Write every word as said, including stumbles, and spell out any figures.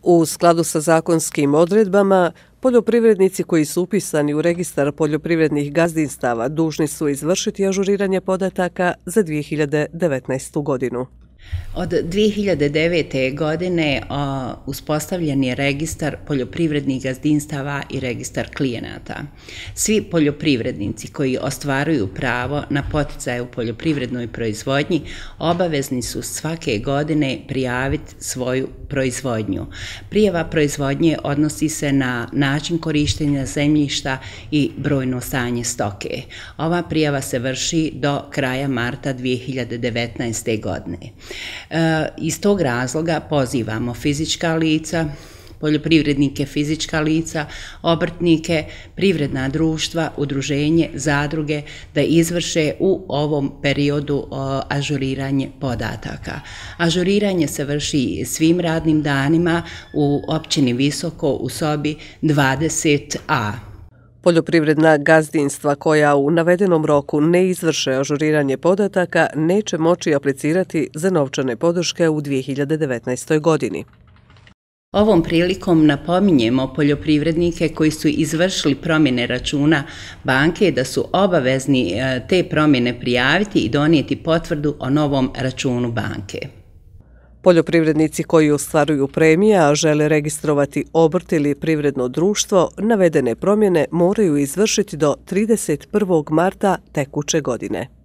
U skladu sa zakonskim odredbama, poljoprivrednici koji su upisani u registar poljoprivrednih gazdinstava dužni su izvršiti ažuriranje podataka za dvije hiljade devetnaestu godinu. Od dvije hiljade devete. godine a, uspostavljen je registar poljoprivrednih gazdinstava i registar klijenata. Svi poljoprivrednici koji ostvaruju pravo na poticaje u poljoprivrednoj proizvodnji obavezni su svake godine prijaviti svoju proizvodnju. Prijava proizvodnje odnosi se na način korištenja zemljišta i brojno stanje stoke. Ova prijava se vrši do kraja marta dvije hiljade devetnaeste. godine. E, iz tog razloga pozivamo fizička lica, poljoprivrednike fizička lica, obrtnike, privredna društva, udruženje, zadruge da izvrše u ovom periodu o, ažuriranje podataka. Ažuriranje se vrši svim radnim danima u općini Visoko u sobi dvadeset A. Poljoprivredna gazdinstva koja u navedenom roku ne izvrše ažuriranje podataka neće moći aplicirati za novčane podrške u dvije hiljade devetnaestoj. godini. Ovom prilikom napominjemo poljoprivrednike koji su izvršili promjene računa banke da su obavezni te promjene prijaviti i donijeti potvrdu o novom računu banke. Poljoprivrednici koji ostvaruju premije, a žele registrovati obrt ili privredno društvo, navedene promjene moraju izvršiti do trideset prvog marta tekuće godine.